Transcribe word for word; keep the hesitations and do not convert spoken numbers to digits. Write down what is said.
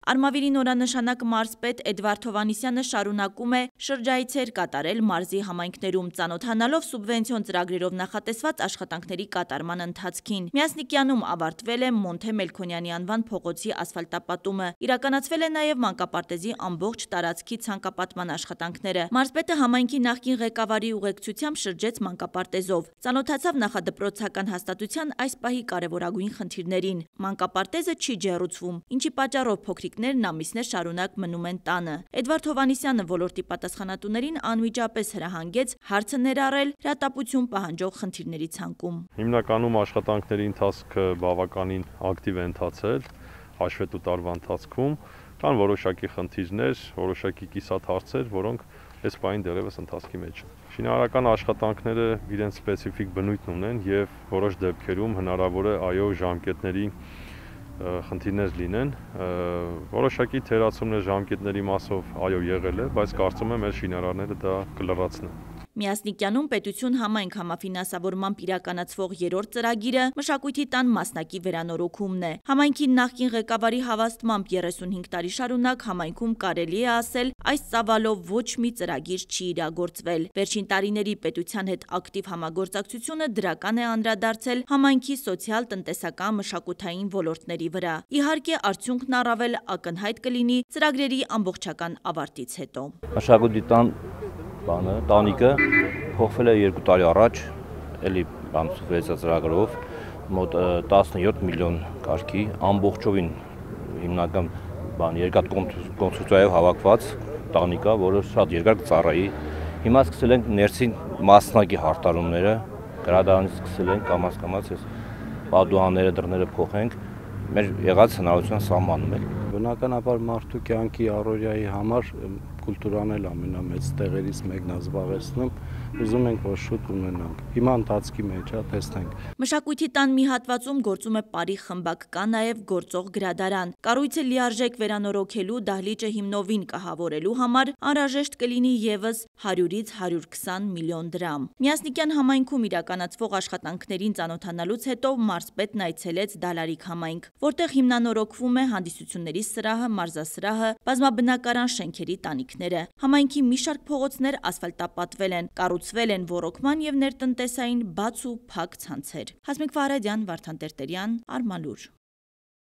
Արմավիրի նորանշանակ մարզպետ Էդվարդ Հովհաննիսյանը շարունակում է շրջայցեր կատարել մարզի համայնքներում, ծանոթանալով սուբվենցիոն ծրագրերով նախատեսված աշխատանքների կատարման ընթացքին։ Միասնիկյանում ավարտվել է Մոնթե Մելքոնյանի անվան փողոցի ասֆալտապատումը, իրականացվել է նաև մանկապարտեզի ամբողջ տարածքի ցանկապատման աշխատանքները։ Մարզպետը համայնքի նախկին ղեկավարի ուղեկցությամբ շրջեց մանկապարտեզով, ծանոթացավ նախադպրոցական հաստատության այս պահի կարևորագույն խնդիրներին։ Մանկապարտեզը չի ջեռուցվում, ինչի պատճառով փոքրիկներն ամիսներ շարունակ մնում են տանը։ Էդվարդ Հովհաննիսյանը ոլորտի պատասխանատուներին անմիջապես հրահանգեց հարցը ներառել հրատապություն պահանջող խնդիրների ցանկում։ Հիմնականում աշխատանքների ընթացքը բավականին ակտիվ է ընթացել հաշվետու տարվա ընթացքում, կան որոշակի խնդիրներ, որոշակի կիսատ հարցեր, որոնք այս պահին դեռևս ընթացքի մեջ են։ Շինարարական աշխատանքները իրենց սպეციფიկ բնույթն ունեն եւ որոշ դեպքերում հնարավոր է այո ժամկետների խնդիրներ լինեն, որոշակի թերացումներ ժամկետների մասով այո եղել է, բայց կարծում եմ մեր շինարարները դա կլրացնեն։ Միասնիկյանում պետություն համայնք համաֆինանսավորմամբ իրականացվող երրորդ ծրագիրը մշակույթի տան մասնակի վերանորոգումն է։ Համայնքի նախկին ղեկավարի հավաստմամբ երեսունհինգ տարի շարունակ համայնքում կարելի է ասել այս ծավալով ոչ մի ծրագիր չի իրագործվել։ Վերջին տարիների պետության հետ ակտիվ համագործակցությունը դրական է անդրադարձել համայնքի սոցիալ-տնտեսական մշակութային ոլորտների վրա։ Իհարկե, արդյունքն առավել ակնհայտ կլինի ծրագրերի ամբողջական ավարտից հետո։ Մշակույթի տան բանը, տանիքը փոխվել է երկու տարի առաջ, էլի բան սուբվենցիա ծրագրով, մոտ տասնյոթ միլիոն կարգի, ամբողջովին հիմնական բան երկաթ կոնստրուկցիայով հավաքված տանիքա, որը շատ երկար կծառայի։ Հիմա սկսել ենք ներսին մասնակի հարթարումները, գրադարանից սկսել ենք կամաց-կամաց այս պատուհանները, դռները փոխենք, մեր եղած հնարավորության սահմանում է։ Բնականաբար մարդու կյանքի առօրյայի համար կուլտուրան էլ ամենամեծ տեղերից մեկն է զբաղեցնում, ուզում ենք որ շուտ ունենանք։ Հիմա ընթացքի մեջ է, տեսնենք։ Մշակույթի տան մի հատվածում գործում է Պարի խմբակ, կա նաև գործող գրադարան։ Կառույցը լիարժեք վերանորոգելու, դահլիճը հիմնովին կահավորելու համար անհրաժեշտ կլինի ևս հարյուրից հարյուր քսան միլիոն դրամ։ Միասնիկյան համայնքում իրականացվող աշխատանքներին ծանոթանալուց հետո մարզպետն այցելեց Դալարիկ համայնք, որտեղ հիմնանորոգվում է հանդիսությունների սրահը, մարզասրահը, բազմաբնակարան շենքերի տանիքները։ Համայնքի մի շարք փողոցներ ասֆալտապատվել են, կառուցվել են ոռոգման և ներտնտեսային բաց ու փակ ցանցեր։ Հասմիկ Ֆարադյան, Վարդան Տերտերյան, Արմալուր։